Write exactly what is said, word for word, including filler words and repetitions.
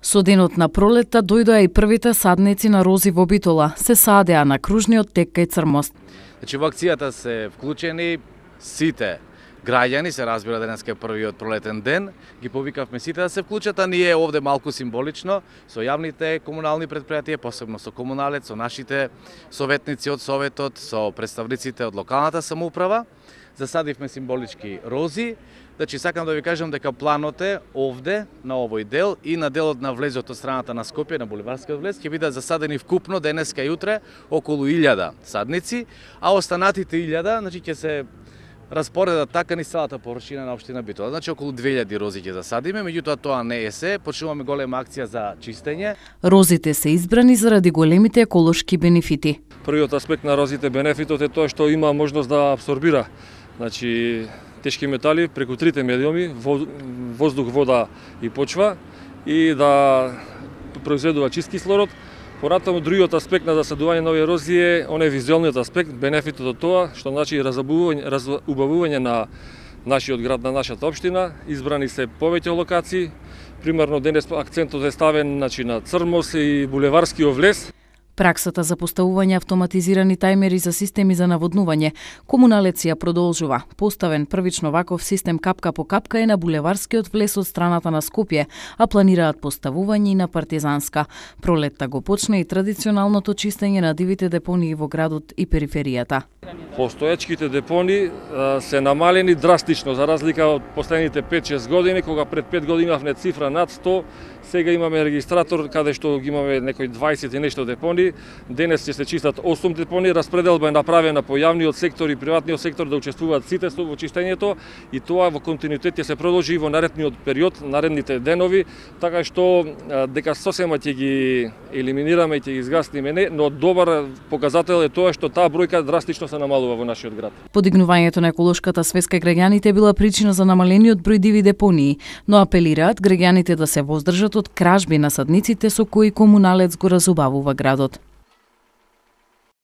Со денот на пролетта дојдоа и првите садници на рози во Битола. Се садеа на кружниот тек кај Црмост. Значи во акцијата се вклучени сите граѓани, се разбира денеска е првиот пролетен ден, ги повикавме сите да се вклучат, а ние овде малку символично со јавните комунални предпријатија, посебно со Комуналец, со нашите советници од Советот, со представниците од локалната самоуправа, засадивме символички рози. Значи, сакам да ви кажам дека планот е овде, на овој дел и на делот на влезот од страната на Скопје, на Буливарскиот влез, ќе бидат засадени вкупно денеска и утре околу илјада садници, а останатите илјада, значи, ќе се распоредат така низ целата површина на општина Битола. Значи, околу две илјади рози ќе засадиме, меѓутоа тоа не е се, почнуваме голема акција за чистење. Розите се избрани заради големите еколошки бенефити. Првиот аспект на розите бенефитот е тоа што има можност да абсорбира, значи, тешки метали преку трите медиуми, воздух, вода и почва, и да произведува чист кислород. Понатаму другиот аспект на засадување на овие рози е оној визуелниот аспект, бенефитот од тоа, што значи разубавување, разубавување на нашиот град, на нашата општина. Избрани се повеќе локации. Примерно денес акцентот е ставен, значи, на Црмост и Булеварскиот влез. Праксата за поставување автоматизирани тајмери за системи за наводнување, Комуналец ја продолжува. Поставен првично ваков систем капка по капка е на Булеварскиот влез од страната на Скопје, а планираат поставување и на Партизанска. Пролетта го почна и традиционалното чистење на дивите депонии во градот и периферијата. Постоечките депонии а, се намалени драстично, за разлика од последните пет-шест години, кога пред пет години имавме цифра над сто, сега имаме регистратор каде што ги имаме некои дваесет и нешто депонии. Денес ќе се чистат осум депонии, распределба е направена по јавниот сектор и приватниот сектор да учествуваат сите во чистењето, и тоа во континуитет ќе се продолжи во наредниот период, наредните денови, така што дека сосема ќе ги елиминираме и ќе ги изгасниме, не, но добар показател е тоа што таа бројка драстично се намалува во нашиот град. Подигнувањето на еколошката свеска граѓаните била причина за намалениот број диви депонии, но апелираат граѓаните да се воздржат од кражби на садниците со кои Комуналец го разубавува градот.